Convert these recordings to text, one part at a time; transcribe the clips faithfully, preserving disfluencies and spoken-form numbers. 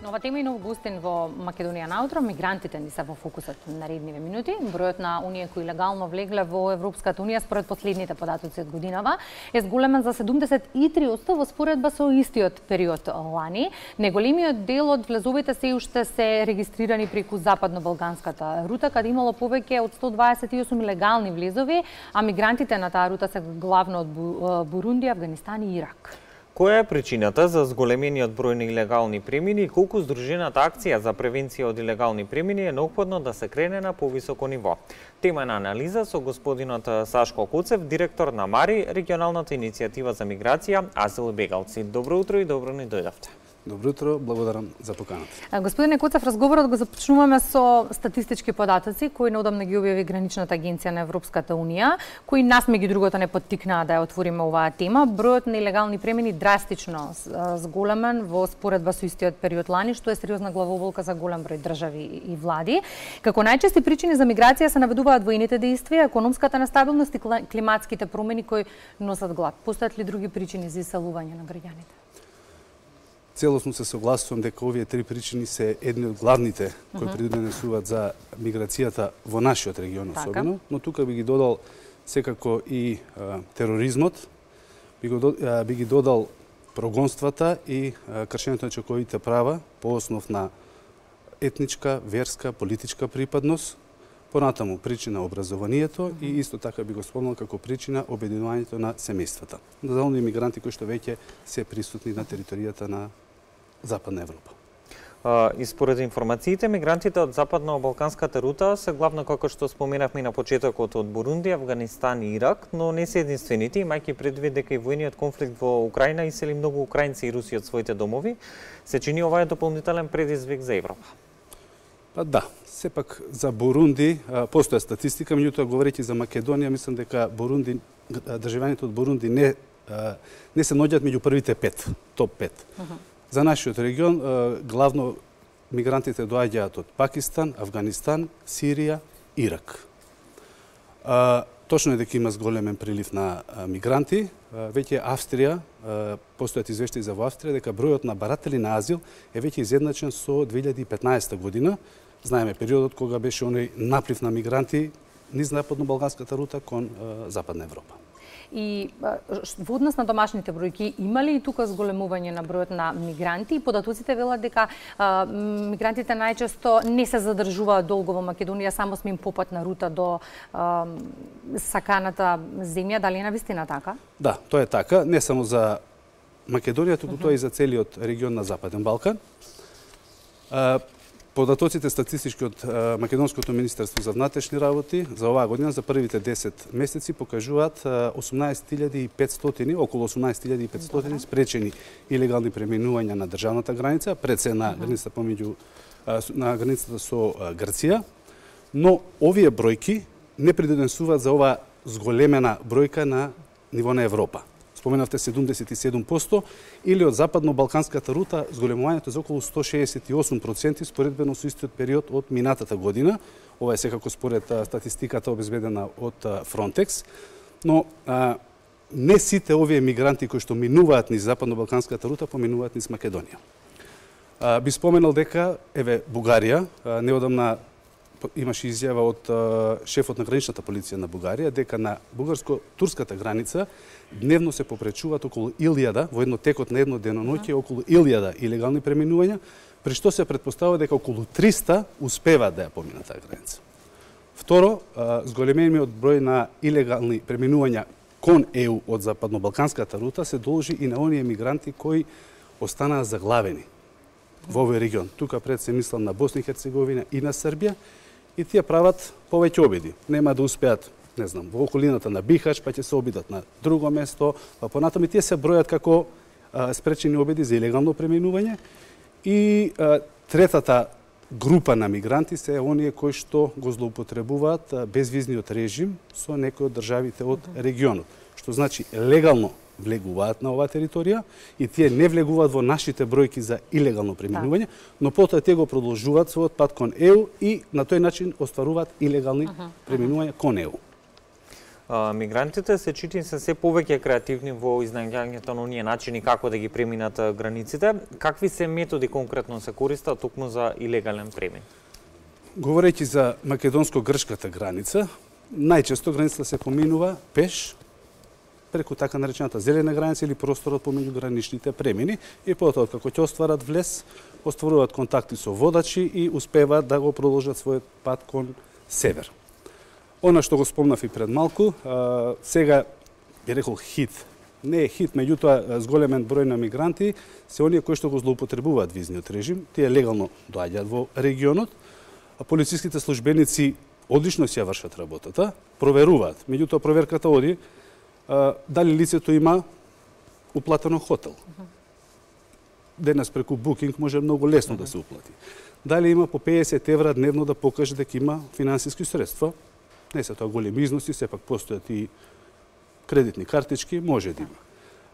Нова тема и нов гостин во Македонија наутро. Мигрантите ни се во фокусот на наредниве минути. Бројот на оние кои легално влегле во Европската унија според последните податоци од годинава е зголемен за седумдесет и три одсто во споредба со истиот период лани. Неголемиот дел од влезовите се уште се регистрирани преку западно-балканската рута, каде имало повеќе од сто дваесет и осум легални влезови, а мигрантите на таа рута се главно од Бурунди, Авганистан и Ирак. Која е причината за зголемениот број на илегални премини и колку здружената акција за превенција од илегални премини е неопходно да се крене на повисоко ниво? Тема на анализа со господинот Сашко Куцев, директор на МАРИ, регионалната иницијатива за миграција, азил и бегалци. Добро утро и добро ни дојдовте. Добро утро, благодарам за поканата. Господине Куцев, разговорот го започнуваме со статистички податоци кои неодамна ги објави Граничната агенција на Европската унија, кои нас меѓу другото не поттикнаа да ја отвориме оваа тема. Бројот на илегални премини драстично зголемен во споредба со истиот период лани, што е сериозна главоболка за голем број држави и влади. Како најчести причини за миграција се наведуваат воените дејствија, економската нестабилност и климатските промени кои носат глад. Постојат ли други причини за иселување на граѓаните? Целосно се согласувам дека овие три причини се едни од главните кои придонесуваат за миграцијата во нашиот регион особено, но тука би ги додал секако и а, тероризмот, би, го, а, би ги додал прогонствата и а, кршењето на човековите права по основ на етничка, верска, политичка припадност, понатаму причина образованието и исто така би го спомнал како причина обединувањето на семејствата. За оние мигранти кои што веќе се присутни на територијата на Западна Европа. Uh, и според информациите, мигрантите од западно-балканската рута се главно, како што споменавме на почетокот, од Бурунди, Авганистан и Ирак, но не се единствените, имајќи предвид дека и воениот конфликт во Украина исели многу украинци и руси од своите домови, се чини ова е дополнителен предизвик за Европа. Па да, сепак за Бурунди постоја статистика, меѓутоа говорејќи за Македонија, мислам дека Бурунди, државјаните од Бурунди не не се наоѓаат меѓу првите пет, топ пет. Uh -huh. За нашиот регион главно мигрантите доаѓаат од Пакистан, Авганистан, Сирија, Ирак. Точно е дека има зголемен прилив на мигранти. Веќе Австрија, постојат извештаи за во Австрија дека бројот на баратели на азил е веќе изедначен со две илјади и петнаесета година. Знаеме периодот кога беше оној наплив на мигранти низ западно-балканската рута кон Западна Европа. И во однос на домашните бројки, има ли и тука зголемување на бројот на мигранти? И податоците велат дека а, мигрантите најчесто не се задржуваат долго во Македонија, само сме им попатна рута до а, саканата земја. Дали е навистина така? Да, тоа е така. Не само за Македонија, туку uh -huh. тоа и за целиот регион на Западен Балкан. А, Податоците статистички од Македонското министерство за внатрешни работи за оваа година за првите десет месеци покажуваат осумнаесет илјади и петстотини, околу осумнаесет илјади и петстотини спречени илегални преминувања на државната граница, пред се на границата помеѓу на границата со Грција, но овие бројки не придонесуваат за оваа зголемена бројка на ниво на Европа. Споменавте седумдесет и седум одсто, или од западно-балканската рута зголемувањето за околу сто шеесет и осум проценти споредбено со истиот период од минатата година. Ова е секако според статистиката обезбедена од Frontex, но а, не сите овие мигранти кои што минуваат низ западно-балканската рута поминуваат низ Македонија. А, би споменал дека еве Бугарија а, неодамна имаше изјава од а, шефот на граничната полиција на Бугарија дека на бугарско-турската граница дневно се попречуваат околу илјада, во едно текот на едно деноноќе, околу илјада илегални преминувања, при што се претпоставува дека околу триста успеваат да ја поминат таа граница. Второ, зголемениот број на илегални преминувања кон Е У од западно-балканската рута се должи и на оние мигранти кои останаа заглавени во овој регион. Тука пред се мислам на Босна и Херцеговина и на Србија, и тие прават повеќе обиди. Нема да успеат, не знам, во околината на Бихач, па ќе се обидат на друго место, па понатаму тие се бројат како а, спречени обиди за илегално преминување. И а, третата група на мигранти се оние кои што го злоупотребуваат а, безвизниот режим со некои од државите од регионот. Што значи легално влегуваат на оваа територија и тие не влегуваат во нашите бројки за илегално преминување, но потоа тие го продолжуваат својот пат кон Е У и на тој начин остваруваат илегални преминувања кон Е У. мигрантите се чини се се повеќе креативни во изнаѓањето на оние начини како да ги преминат границите. Какви се методи конкретно се користат токму за илегален премин? Говорејќи за македонско-грчката граница, најчесто границата се поминува пеш преку така наречената зелена граница или просторот помеѓу граничните премини и потоа како ќе остварат влез, остваруваат контакти со водачи и успеваат да го продолжат својот пат кон север. Она што го спомнав и пред малку, а, сега би рекол хит. Не е хит, меѓутоа зголемен број на мигранти се оние кои што го злоупотребуваат визниот режим, тие легално доаѓаат во регионот, а полициските службеници одлично си ја вршат работата, проверуваат. Меѓутоа проверката оди а, дали лицето има уплатено хотел. Денес преку Booking може многу лесно да се уплати. Дали има по педесет евра дневно да покаже дека има финансиски средства. Не се тоа големи износи, сепак постојат и кредитни картички, може да има.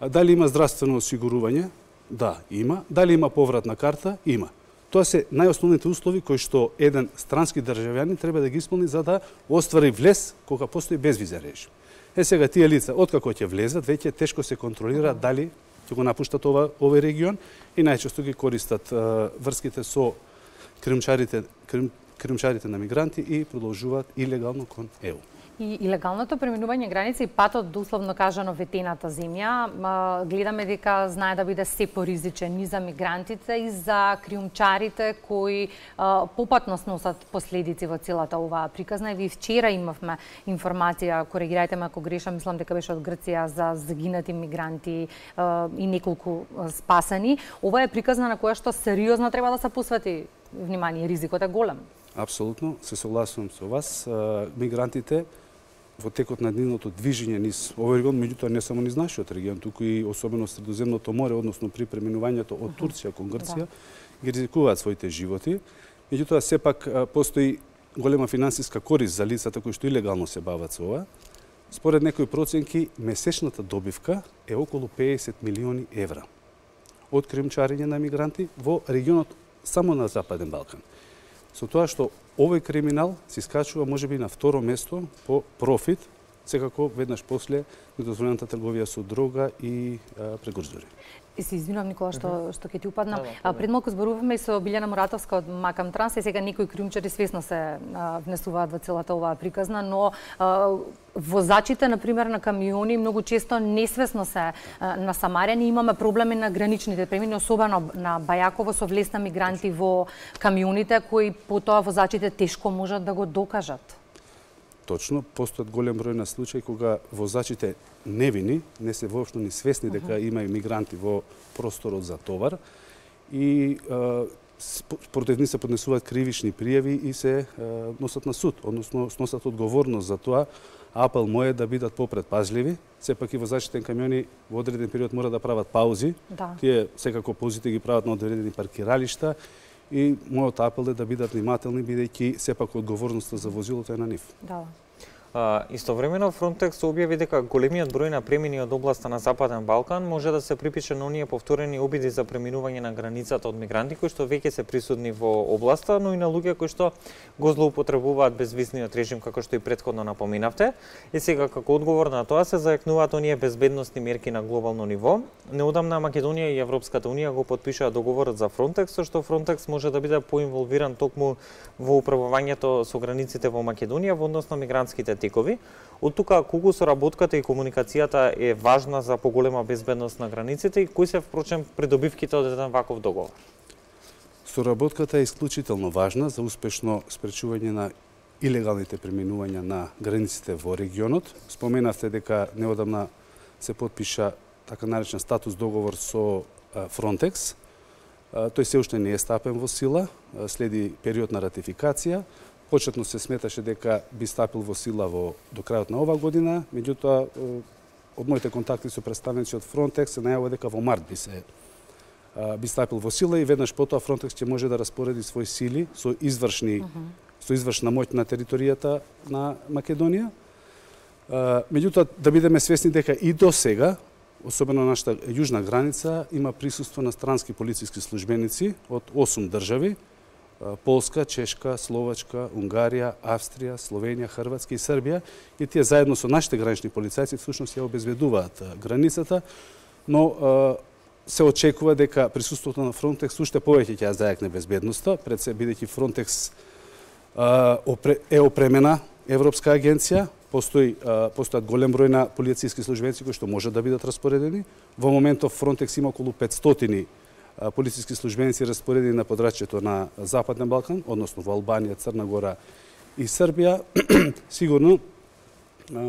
А дали има здравствено осигурување? Да, има. Дали има повратна карта? Има. Тоа се најосновните услови кои што еден странски државјанин треба да ги исполни за да оствари влез кога постои безвизен режим. Е сега тие лица откако ќе влезат, веќе тешко се контролира дали ќе го напуштат ова овој регион и најчесто ги користат а, врските со кримчарите, крим, кримчарите на мигранти и продолжуваат илегално кон Е У. И илегалното преминување граници и патот до условно кажано ветената земја, гледаме дека знае да биде се поризичен и за мигрантите и за криумчарите кои попатно сносат последици во целата оваа приказна. И ви вчера имавме информација, коригирајте ме ако грешам, мислам дека беше од Грција, за загинати мигранти и неколку спасени. Ова е приказна на која што сериозно треба да се посвети внимание, ризикот е голем. Апсолутно, се согласувам со вас. Мигрантите во текот на нивното движење низ овој регион, меѓутоа не само низ нашиот регион, туку и особено Средоземното море, односно при преминувањето од Турција кон Грција, да. ги ризикуваат своите животи. Меѓутоа сепак постои голема финансиска корист за лицата кои што илегално се бават со ова. Според некои проценки, месечната добивка е околу педесет милиони евра од кримчарење на мигранти во регионот само на Западен Балкан. Со тоа што овој криминал се искачува можеби на второ место по профит, секако веднаш после недозволената трговија со дрога и прекурзори. И се извинувам, Никола, што, uh -huh. што ќе ти упадна. А, пред малку зборувавме и со Билјана Муратовска од Макам Транс, и сега некои криумчари свесно се а, внесуваат во целата оваа приказна, но а, возачите, например, на камиони многу често несвесно се а, насамарени. Имаме проблеми на граничните премини, особено на Бајаково, со влез на мигранти во камионите, кои потоа возачите тешко можат да го докажат. Точно, постојат голем број на случаи кога возачите невини, не се воопшто ни свесни дека uh -huh. има и мигранти во просторот за товар и против нив се поднесуваат кривични пријави и се а, носат на суд, односно сносат одговорност за тоа. Апел мој е да бидат попредпазливи, сепак и возачите на камиони во одреден период мора да прават паузи. Да. Тие секако паузите ги прават на одредени паркиралишта. И мојот апел е да бидат внимателни, бидејќи сепак одговорноста за возилото е на нив. Да. А, истовремено Frontex објави дека големиот број на премини од областа на Западен Балкан може да се припише на оние повторени обиди за преминување на границата од мигранти кои што веќе се присутни во областа, но и на луѓе кои што го злоупотребуваат безвизниот режим, како што и претходно напоминавте. И сега како одговор на тоа се зајакнуваат оние безбедносни мерки на глобално ниво. Неодамна Македонија и Европската унија го потпишаа договорот за Frontex, со што Frontex може да биде поинволвиран токму во управувањето со границите во Македонија во однос на мигрантските текови. Од тука колку соработката и комуникацијата е важна за поголема безбедност на границите и кои се впрочем придобивките од еден ваков договор? Соработката е исклучително важна за успешно спречување на илегалните преминувања на границите во регионот. Споменавте дека неодамна се потпиша така наречен статус договор со Frontex. Тој се уште не е стапен во сила, следи период на ратификација. Почетно се сметаше дека би стапил во сила во до крајот на оваа година, меѓутоа од моите контакти со представници од Frontex се најавува дека во март би се би стапил во сила и веднаш потоа Frontex ќе може да распореди своји сили со извршни uh -huh. со извршна моќ на територијата на Македонија. Меѓутоа да бидеме свесни дека и до сега, особено на нашата јужна граница, има присуство на странски полициски службеници од осум држави, Полска, Чешка, Словачка, Унгарија, Австрија, Словенија, Хрватска и Србија, и тие заедно со нашите гранични полицајци всушност ја обезбедуваат границата, но се очекува дека присуството на Фронтекс уште повеќе ќе ја зајакне безбедноста, пред се бидејќи Фронтекс е опремена европска агенција, постои постојат голем број на полициски службеници кои што може да бидат распоредени. Во моментов Фронтекс има околу петстотини полициски службеници распоредени на подрачјето на Западен Балкан, односно во Албанија, Црна Гора и Србија. Сигурно,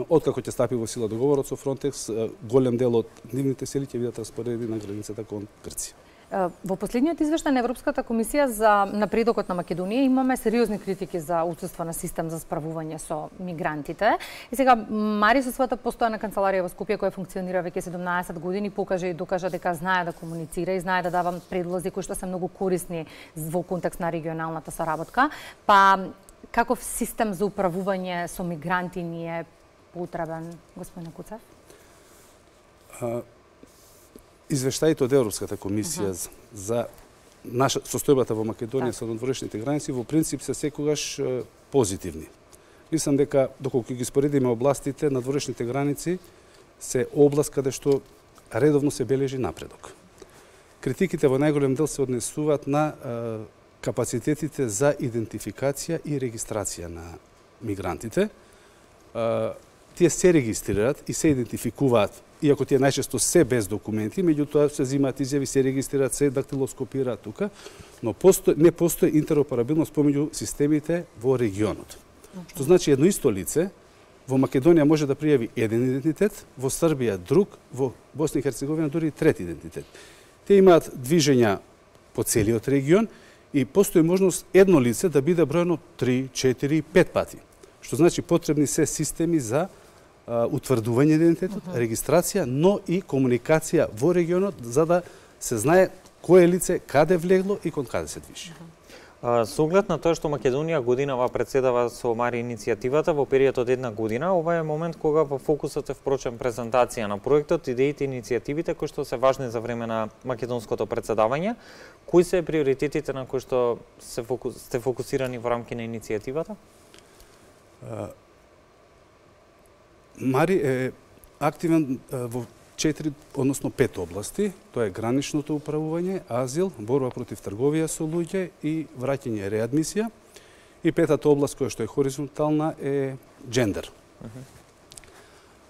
откако ќе стапи во сила договорот со Фронтекс, голем дел од нивните сили ќе бидат распоредени на границата кон Грција. Во последниот извештај на Европската комисија за напредокот на Македонија имаме сериозни критики за отсуство на систем за справување со мигрантите. И сега Мари со својата постојана канцеларија во Скопје, која функционира веќе седумнаесет години, покажа и докажа дека знае да комуницира и знае да дава предлози кои што се многу корисни во контекст на регионалната соработка. Па каков систем за управување со мигранти ни е потребен, господин Куцев? Извештаите од Европската комисија uh-huh. за наша состојбата во Македонија со надворешните граници во принцип се секогаш позитивни. Мислам дека доколку ги споредиме областите, надворешните граници се област каде што редовно се бележи напредок. Критиките во најголем дел се однесуваат на е, капацитетите за идентификација и регистрација на мигрантите. Е, тие се регистрираат и се идентификуваат, иако тие најчесто се без документи, меѓутоа се земаат изјави, се регистрираат, се дактилоскопираат тука, но постои, не постои интероперабилност помеѓу системите во регионот. Okay. Што значи едно исто лице во Македонија може да пријави еден идентитет, во Србија друг, во Босна и Херцеговина дури трети идентитет. Те имаат движења по целиот регион и постои можност едно лице да биде бројано три, четири, пет пати. Што значи потребни се системи за утврдување идентитетот, uh-huh. регистрација, но и комуникација во регионот за да се знае кое лице каде влегло и кон каде се движи. Uh-huh. Со оглед на тоа што Македонија годинава председава со Мари иницијативата во период од една година, ова е момент кога во фокусот е впрочем презентација на проектот, идеите и иницијативите кои што се важни за време на македонското председавање. Кои се приоритетите на кои што се фокус, сте фокусирани во рамки на иницијативата? Uh... Мари е активен во четири, односно пет области. Тоа е граничното управување, азил, борба против трговија со луѓе и враќање и реадмисија. И петата област која што е хоризонтална е джендер. Uh-huh.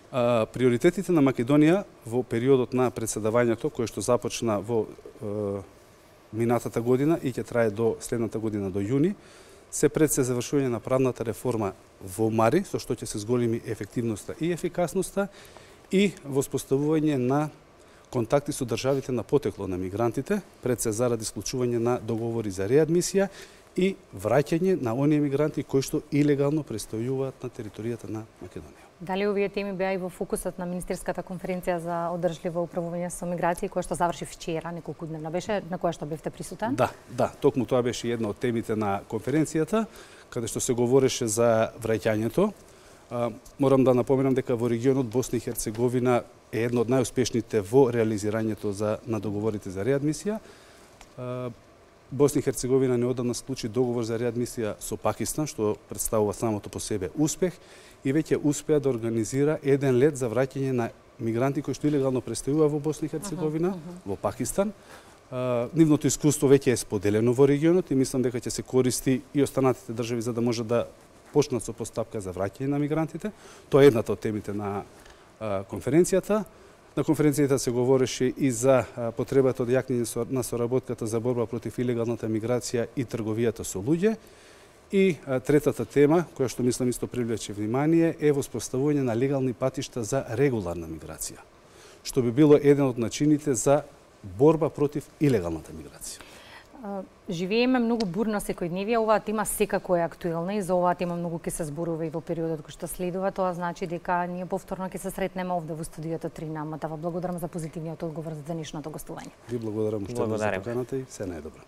А, приоритетите на Македонија во периодот на председавањето, кој што започна во е, минатата година и ќе трае до следната година до јуни, се пред се завршување на правната реформа во Мари, со што ќе се зголеми ефективноста и ефикасноста и воспоставување на контакти со државите на потекло на мигрантите, пред се заради склучување на договори за реадмисија и враќање на оние мигранти кои што илегално престојуваат на територијата на Македонија. Дали овие теми беа и во фокусот на Министерската конференција за одржливо управување со миграција, која што заврши вчера, неколку дневна беше, на која што бевте присутен? Да, да, токму тоа беше една од темите на конференцијата, каде што се говореше за враќањето. А, морам да напоменам дека во регионот Босна и Херцеговина е едно од најуспешните во реализирањето за на договорите за реадмисија. А, Босна и Херцеговина неодамна склучи договор за реадмисија со Пакистан, што представува самото по себе успех, и веќе успеа да организира еден лет за враќање на мигранти кои што илегално престојува во Босна и Херцеговина, uh-huh, uh-huh. во Пакистан. А, нивното искуство веќе е споделено во регионот и мислам дека ќе се користи и останатите држави за да може да почнат со постапка за враќање на мигрантите. Тоа е едната од темите на а, конференцијата. На конференцијата се говореше и за а, потребата од јакнење на соработката за борба против илегалната миграција и трговијата со луѓе. И а, третата тема, која што мислам исто привлече внимание, е воспоставување на легални патишта за регуларна миграција, што би било еден од начините за борба против илегалната миграција. Живееме многу бурна секојдневие, оваа тема секако е актуелна и за оваа тема многу ќе се зборува и во периодот кој што следува. Тоа значи дека ние повторно ќе се сретнеме овде во студиото три на Матава. Благодарам за позитивниот одговор за денешното гостување. Ви благодарам уште за поканата и се најдобро.